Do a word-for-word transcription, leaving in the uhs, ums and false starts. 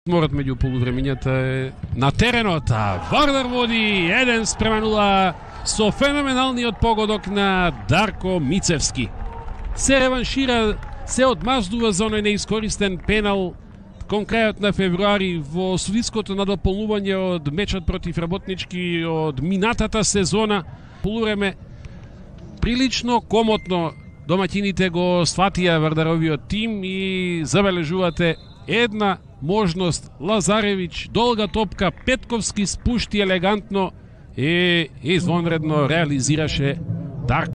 Морат меѓу полувремењата е на теренот, а Вардар води еден спрема нула со феноменалниот погодок на Дарко Мицевски. Се реваншира, се одмаздува за оној неискористен пенал кон крајот на февруари во судиското надополнување од мечот против Работнички од минатата сезона. Полувреме прилично комотно домаќините го сватија Вардаровиот тим и забележувате една можност. Лазаревич, долга топка, Петковски спушти елегантно и извонредно реализираше Дарко.